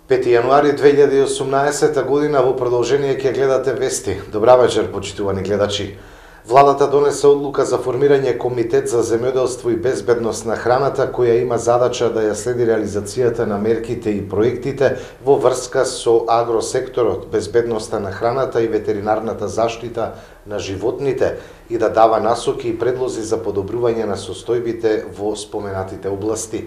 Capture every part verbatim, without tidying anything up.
пети јануари две илјади и осумнаесета година во продолжение ќе гледате вести. Добра вечер, почитувани гледачи. Владата донесе одлука за формирање Комитет за земјоделство и безбедност на храната, која има задача да ја следи реализацијата на мерките и проектите во врска со агросекторот, безбедноста на храната и ветеринарната заштита на животните и да дава насоки и предлози за подобрување на состојбите во споменатите области.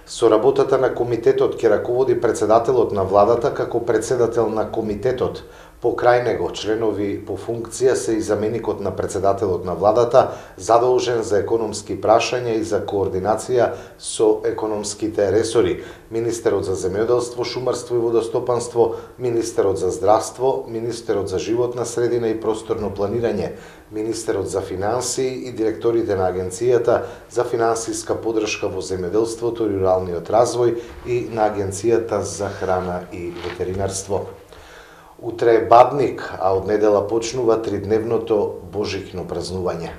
Со работата на комитетот ќе раководи председателот на владата како председател на комитетот. Покрај него членови по функција се и заменикот на председателот на владата, задолжен за економски прашања и за координација со економските ресори, министерот за земјоделство, шумарство и водостопанство, министерот за здравство, министерот за животна средина и просторно планирање, министерот за финансии и директорите на Агенцијата за финансиска подршка во земјоделството и руралниот развој и на Агенцијата за храна и ветеринарство. Утре е Бадник, а од недела почнува тридневното божиќно празнување.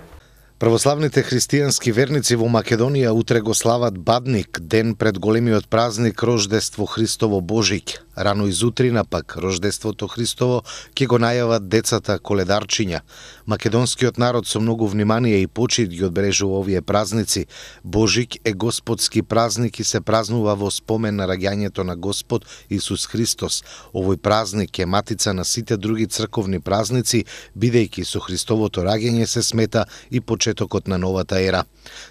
Православните христијански верници во Македонија утре го слават Бадник, ден пред големиот празник Рождество Христово Божиќ. Рано изутрина пак Рождеството Христово ќе го најават децата коледарчиња. Македонскиот народ со многу внимание и почит ги одбележува овие празници. Божиќ е господски празник и се празнува во спомен на раѓањето на Господ Исус Христос. Овој празник е матица на сите други црковни празници, бидејќи со Христовото раѓање се смета и почетокот на новата ера.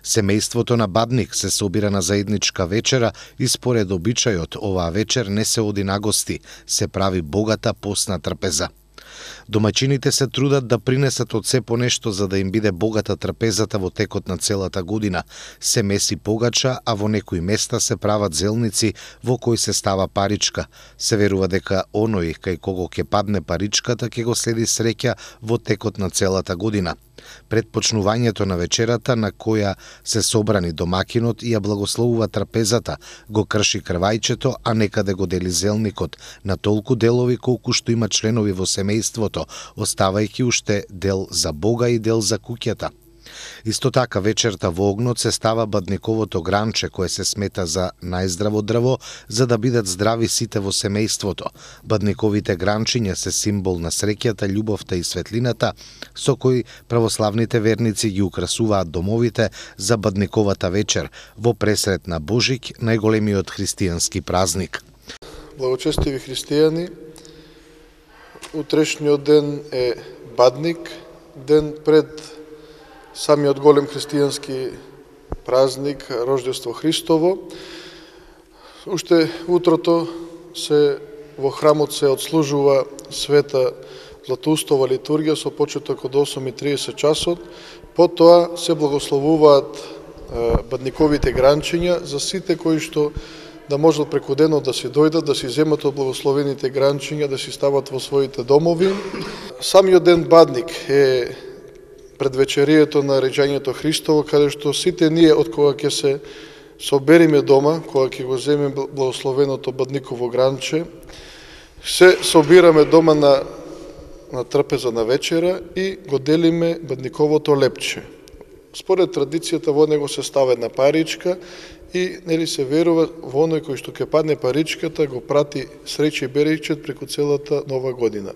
Семејството на Бадник се собира на заедничка вечера и според обичајот оваа вечер не се оди на гости, се прави богата постна трпеза. Домаќините се трудат да принесат од се по нешто за да им биде богата трпезата во текот на целата година. Се меси погача, а во некои места се прават зелници во кои се става паричка. Се верува дека оној кај кого ќе падне паричката ќе го следи среќа во текот на целата година. Пред почнувањето на вечерата на која се собрани домакинот и ја благословува трпезата, го крши крвајчето, а некаде го дели зелникот на толку делови колку што има членови во семејството, оставајќи уште дел за Бога и дел за куќата. Исто така вечерта во огнот се става бадниковото гранче кое се смета за најздраво дрво за да бидат здрави сите во семејството. Бадниковите гранчиња се символ на среќата, љубовта и светлината со кои православните верници ги украсуваат домовите за бадниковата вечер во пресрет на Божиќ, најголемиот христијански празник. Благочестиви христијани, утрешниот ден е Бадник, ден пред самиот голем христијански празник Рождество Христово. Уште утрото се во храмот се отслужува света Златоустова литургија со почеток од осум и триесет часот. Потоа се благословуваат бадниковите гранчиња за сите кои што да можат преку денот да си дојдат, да си земат од благословените гранчиња, да си стават во своите домови. Самиот ден Бадник е предвечерието на реѓањето Христово, каде што сите ние од кога ќе се собериме дома, кога ќе го земеме благословеното бадниково гранче, се собираме дома на, на трпеза на вечера и го делиме бадниковото лепче. Според традицијата во него се става една паричка и нели се верува во оној кој што ќе падне паричката го прати среќа и беречет преку целата нова година.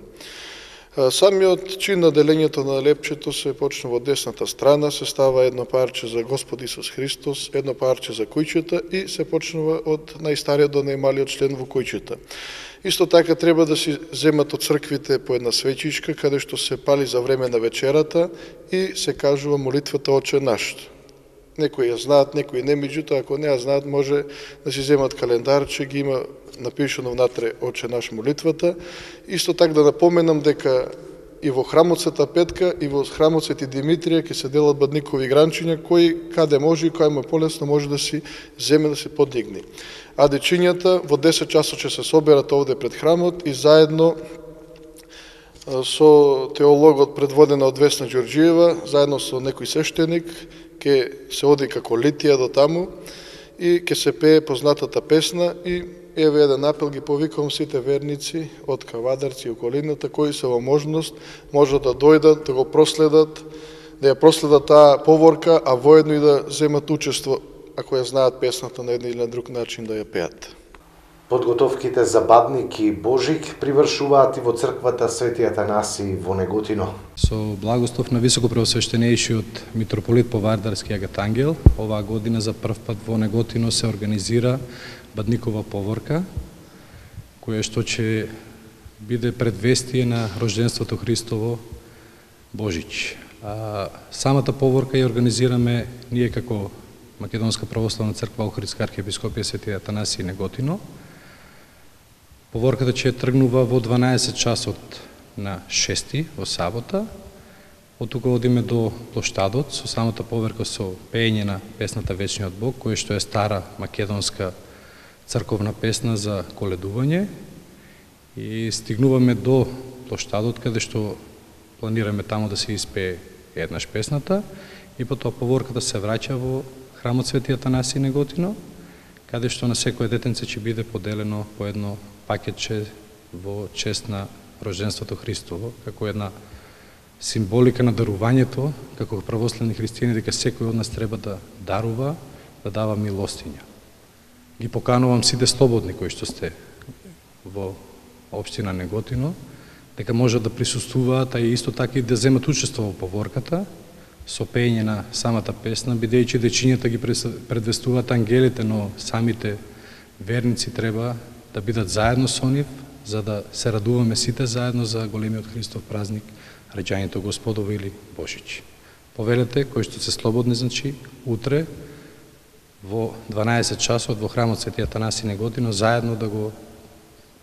Самиот чин на делењето на лепчето се почнува од десната страна, се става едно парче за Господ Исус Христос, едно парче за куќата и се почнува од најстариот до најмалиот член во куќата. Исто така треба да си земат од црквите по една свечичка, каде што се пали за време на вечерата и се кажува молитвата Отче наш. Некои ја знаат, некои не, меѓутоа ако не ја знаат, може да си земат календарче, ги има напишано внатре Отче наш молитвата. Исто така да напоменам дека и во храмот Света Петка и во храмот Свети Димитрија ќе се делат бадникови гранчиња, кој каде може и кој му е полесно може да си земе да се подигни. А дечињата во десет часот ќе се соберат овде пред храмот и заедно со теологот предводена од Весна Ѓорѓиева, заедно со некој свештеник, ќе се оди како Литија до таму и ќе се пее познатата песна и еве еден апел ги повикувам сите верници од Кавадарци и околината кои се во можност можат да дојдат, да го проследат, да ја проследат таа поворка, а воедно и да земат учество, ако ја знаат песната на еден или на друг начин да ја пеат. Подготовките за Бадник и Божик привршуваат и во црквата Свети Атанаси во Неготино. Со благослов на високопреосвещенејшиот митрополит Повардарски Агат Ангел, оваа година за прв пат во Неготино се организира Бадникова поворка, која што ќе биде предвестие на рожденството Христово Божич. А, самата поворка ја организираме ние како Македонска православна црква Охридска архиепископија Свети Атанаси Неготино. Поворката ќе тргнува во дванаесет часот на шести во сабота. Од тука одиме до плоштадот со самата поверка со пеење на песната Вечниот Бог, која што е стара македонска црковна песна за коледување. И стигнуваме до плоштадот каде што планираме таму да се испее еднаш песната и потоа поворката се враќа во храмот Свети Атанаси Неготино, каде што на секое детенце ќе биде поделено по едно пакетче во чест на рожденството Христово, како една символика на дарувањето, како православни христијани, дека секој од нас треба да дарува, да дава милостиња. Ги поканувам сите слободни кои што сте во општина Неготино, дека можат да присуствуваат, а и исто така и да земат учество во поворката, со пеење на самата песна, бидејќи дечињата ги предвестуваат ангелите, но самите верници треба да бидат заедно со нив, за да се радуваме сите заедно за големиот Христов празник, раѓањето Господово или Божич. Повелете, кои што се слободни, значи, утре во дванаесет часот во храмот Свети Атанаси Неготино заедно да го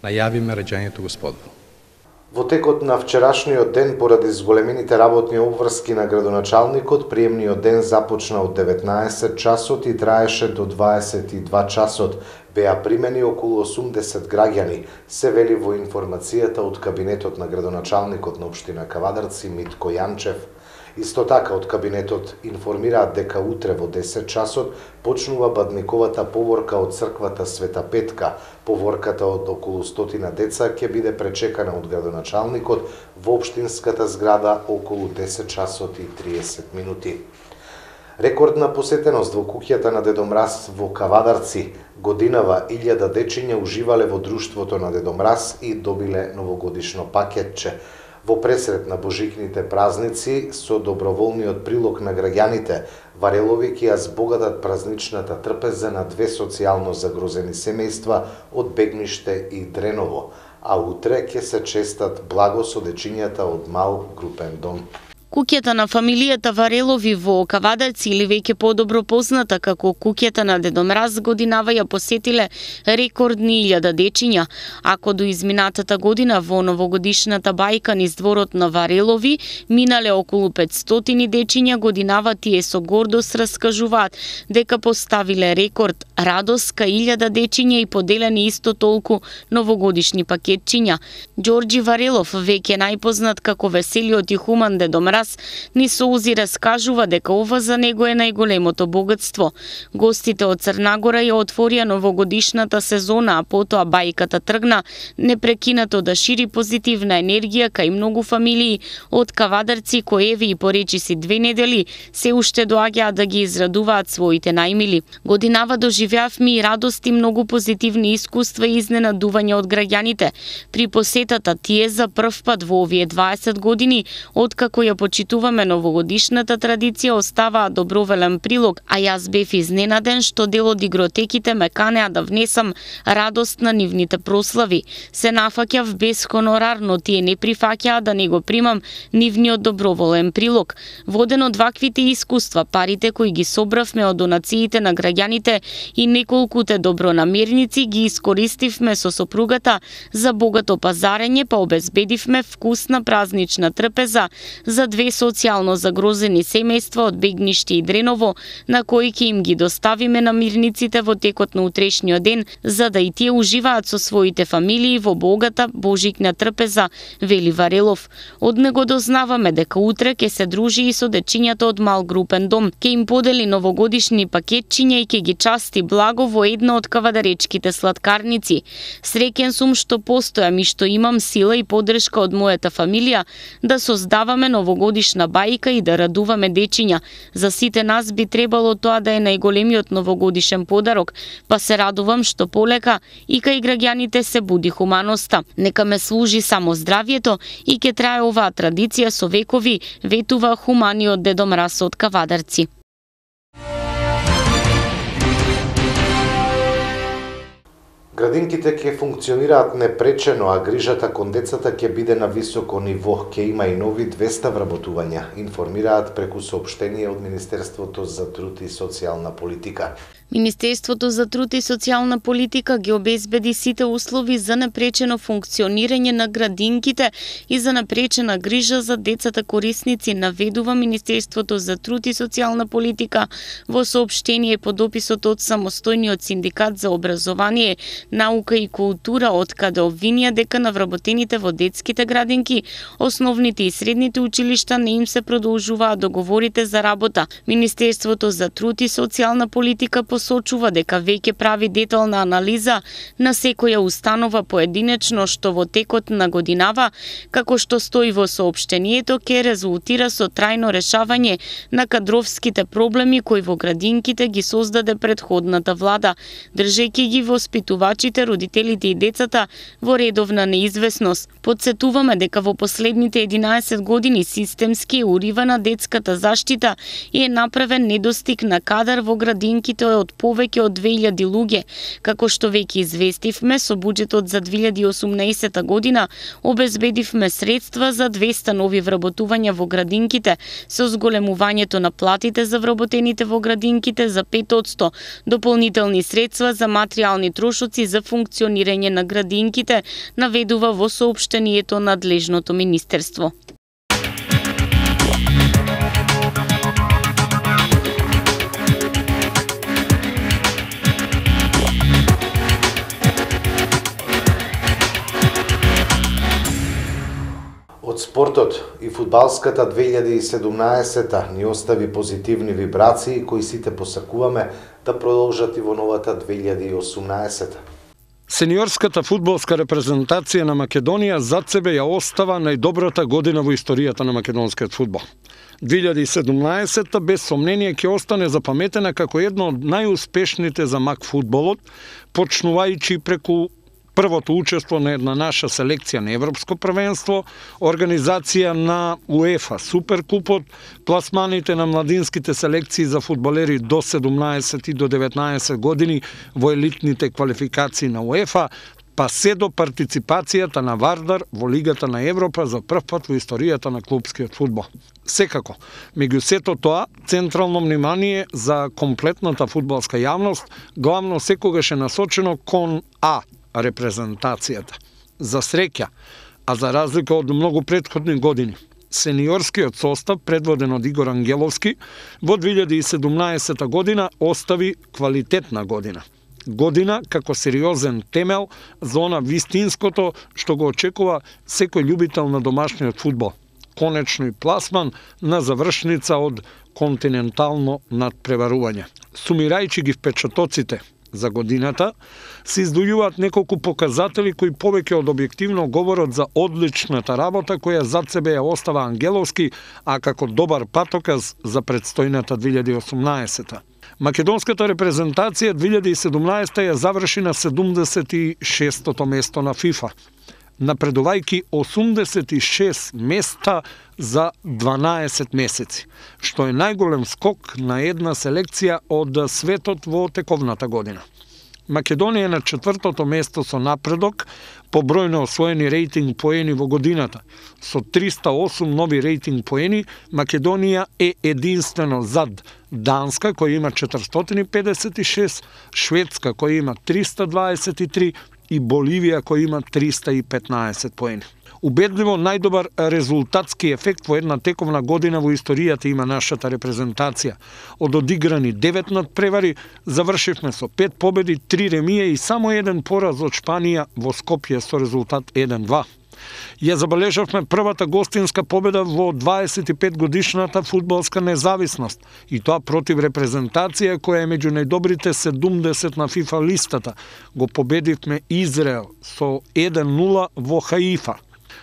најавиме раѓањето Господово. Во текот на вчерашниот ден, поради зголемените работни обврски на градоначалникот, приемниот ден започна од деветнаесет часот и траеше до дваесет и два часот. Беа примени околу осумдесет граѓани, се вели во информацијата од кабинетот на градоначалникот на општина Кавадарци Митко Јанчев. Исто така од кабинетот информираат дека утре во десет часот почнува Бадниковата поворка од црквата Света Петка. Поворката од околу стотина деца ќе биде пречекана од градоначалникот во општинската зграда околу десет часот и триесет минути. Рекордна посетеност во куќата на Дедо Мраз во Кавадарци. Годинава илјада дечиња уживале во друштвото на Дедо Мраз и добиле новогодишно пакетче. Во пресрет на божикните празници, со доброволниот прилог на граѓаните, Варелови ќе ја збогатат празничната трпеза на две социјално загрозени семејства од Бегниште и Дреново, а утре ќе се честат благо со дечињата од мал групен дом. Куќата на фамилијата Варелови во Кавадарци, или веќе подобро позната како куќата на Дедо Мраз, годинава ја посетиле рекордни илјада дечиња, ако до изминатата година во новогодишната бајка низ дворот на Варелови минале околу петстотини дечиња, годинава тие со гордост раскажуваат дека поставиле рекорд, радост кај илјада дечиња и поделени исто толку новогодишни пакетчиња. Ѓорѓи Варелов, веќе најпознат како веселиот и хуман Дедо Мраз, ни соузи раскажува дека ова за него е најголемото богатство. Гостите од Црнагора ја отворија новогодишната сезона, а потоа бајката тргна непрекинато да шири позитивна енергија кај многу фамилии од Кавадарци кои еве и поречиси две недели се уште доаѓаат да ги израдуваат своите најмили. Годинава доживеавме и радост и многу позитивни искуства и изненадувања од граѓаните. При посетата тие за прв пат во овие дваесет години, откако ја почитуваме новогодишната традиција, оставаа доброволен прилог, а јас бев изненаден што дел од игротеките ме канеа да внесам радост на нивните прослави. Се нафаќав без хонорар, но тие не прифаќаа да не го примам нивниот доброволен прилог. Воден од ваквите искуства, парите кои ги собравме од донациите на граѓаните и неколкуте добронамерници ги искористивме со сопругата за богато пазарење, па обезбедивме вкусна празнична трпеза за две социјално загрозени семејства од Бегниште и Дреново, на кои ќе им ги доставиме намирниците во текот на утрешниот ден, за да и тие уживаат со своите фамилии во богата божикна трпеза, вели Варелов. Од него дознаваме дека утре ќе се дружи и со дечињата од мал групен дом, ќе им подели новогодишни пакетчиња и ќе ги части благо во една од кавадаречките сладкарници. Среќен сум што постојам и што имам сила и поддршка од мојата фамилија да создаваме новогодишни новогодишна бајка и да радуваме дечиња. За сите нас би требало тоа да е најголемиот новогодишен подарок, па се радувам што полека и кај граѓаните се буди хуманоста. Нека ме служи само здравието и ќе трае оваа традиција со векови, ветува хуманиот Дедо Мраз од Кавадарци. Градинките ќе функционираат непречено, а грижата кон децата ќе биде на високо ниво. Ќе има и нови двеста вработувања, информираат преку соопштение од Министерството за труд и социјална политика. Министерството за труд и социјална политика ги обезбеди сите услови за непречено функционирање на градинките и за непречена грижа за децата корисници, наведува Министерството за труд и социјална политика во соопштение по дописот од самостојниот синдикат за образование, наука и култура, од каде обвинија дека на вработените во детските градинки, основните и средните училишта не им се продолжуваат договорите за работа. Министерството за труд и социјална политика посочува дека веќе прави детална анализа на секоја установа поединечно што во текот на годинава, како што стои во соопштението, ќе резултира со трајно решавање на кадровските проблеми кои во градинките ги создаде претходната влада, држејќи ги воспитувачите, родителите и децата во редовна неизвестност. Подсетуваме дека во последните единаесет години системски е уривана детската заштита и е направен недостиг на кадар во градинките од повеќе од две илјади луѓе. Како што веќе известивме, со буџетот за две илјади и осумнаесета година обезбедивме средства за двеста нови вработувања во градинките, со зголемувањето на платите за вработените во градинките за пет одсто, дополнителни средства за материјални трошоци за функционирање на градинките, наведува во соопштението надлежното министерство. Од спортот и фудбалската две илјади и седумнаесета ни остави позитивни вибрации кои сите посакуваме да продолжат и во новата две илјади и осумнаесета. Сениорската фудбалска репрезентација на Македонија зад себе ја остава најдобрата година во историјата на македонскиот фудбал. две илјади и седумнаесета без сомнение ќе остане запаметена како една од најуспешните за мак фудбалот, почнувајќи преку првото учество на една наша селекција на Европско првенство, организација на УЕФА Суперкупот, пласманите на младинските селекции за фудбалери до седумнаесет и до деветнаесет години во елитните квалификации на УЕФА, па се до партиципацијата на Вардар во Лигата на Европа за прв пат во историјата на клубскиот фудбал. Секако, меѓу сето тоа, централно внимание за комплетната фудбалска јавност главно секогаш е насочено кон А, репрезентацијата. За среќа, а за разлика од многу претходни години, сениорскиот состав, предводен од Игор Ангеловски, во две илјади и седумнаесета година остави квалитетна година. Година како сериозен темел за она вистинското што го очекува секој љубител на домашниот фудбал. Конечно и пласман на завршница од континентално надпреварување. Сумирајќи ги впечатоците за годината, се издвојуваат неколку показатели кои повеќе од објективно говорат за одличната работа која зад себе ја остава Ангеловски, а како добар патоказ за предстојната две илјади и осумнаесета. Македонската репрезентација две илјади и седумнаесета ја заврши на седумдесет и шестото место на ФИФА, напредувајќи осумдесет и шест места за дванаесет месеци, што е најголем скок на една селекција од светот во тековната година. Македонија е на четвртото место со напредок по број на освоени рейтинг поени во годината. Со триста и осум нови рейтинг поени, Македонија е единствено зад Данска, која има четиристотини и педесет и шест, Шведска, која има триста дваесет и три и Боливија, која има триста и петнаесет поени. Убедливо најдобар резултатски ефект во една тековна година во историјата има нашата репрезентација. Од одиграни девет надпревари, завршивме со пет победи, три ремија и само еден пораз од Шпанија во Скопје со резултат еден два. Ја забележавме првата гостинска победа во дваесет и пет годишната фудбалска независност, и тоа против репрезентација која е меѓу најдобрите седумдесет на ФИФА листата. Го победивме Израел со еден нула во Хаифа.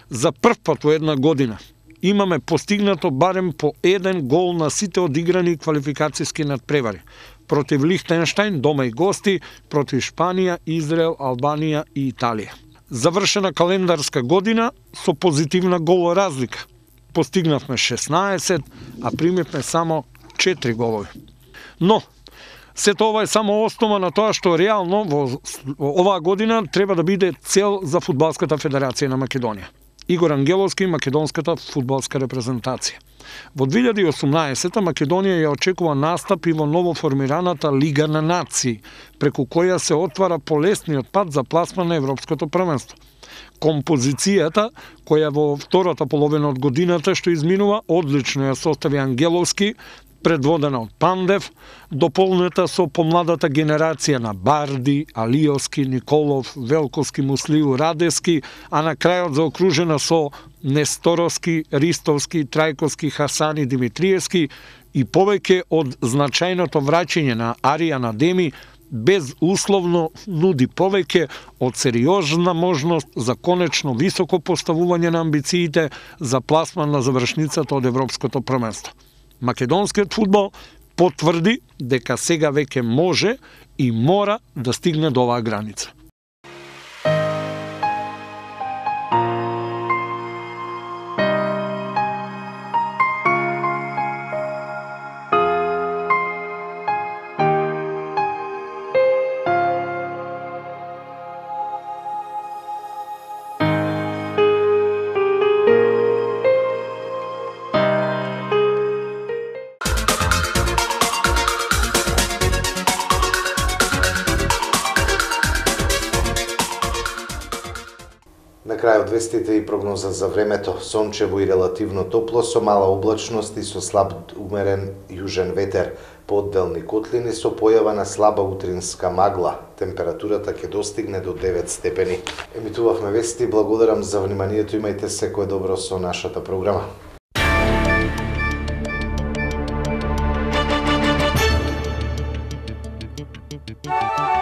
За прв пат во една година имаме постигнато барем по еден гол на сите одиграни квалификацијски надпревари. Против Лихтенштајн, дома и гости, против Шпанија, Израел, Албанија и Италија. Завршена календарска година со позитивна гол разлика. Постигнавме шеснаесет, а примивме само четири голови. Но, сето ова е само основа на тоа што реално во оваа година треба да биде цел за Фудбалската федерација на Македонија. Игор Ангеловски и македонската фудбалска репрезентација. Во две илјади и осумнаесета Македонија ја очекува настап и во новоформираната Лига на нации, преку која се отвара полесниот пат за пласман на Европското првенство. Композицијата, која во втората половина од годината што изминува, одлично ја состави Ангеловски, предводена од Пандев, дополнета со помладата генерација на Барди, Алиовски, Николов, Велковски, Муслиу, Радевски, а на крајот заокружена со Несторовски, Ристовски, Трајковски, Хасани, Димитриевски и повеќе од значајното враќање на Аријан Адеми, безусловно нуди повеќе од сериозна можност за конечно високо поставување на амбициите за пласман на завршницата од Европското првенство. Македонскиот фудбал потврди дека сега веќе може и мора да стигне до оваа граница. На крајот вестите и прогноза за времето. Сончево и релативно топло со мала облачност и со слаб умерен јужен ветер. По одделни котлини со појава на слаба утринска магла. Температурата ќе достигне до девет степени. Емитувавме вести, благодарам за вниманието, имајте секое добро со нашата програма. Thank you.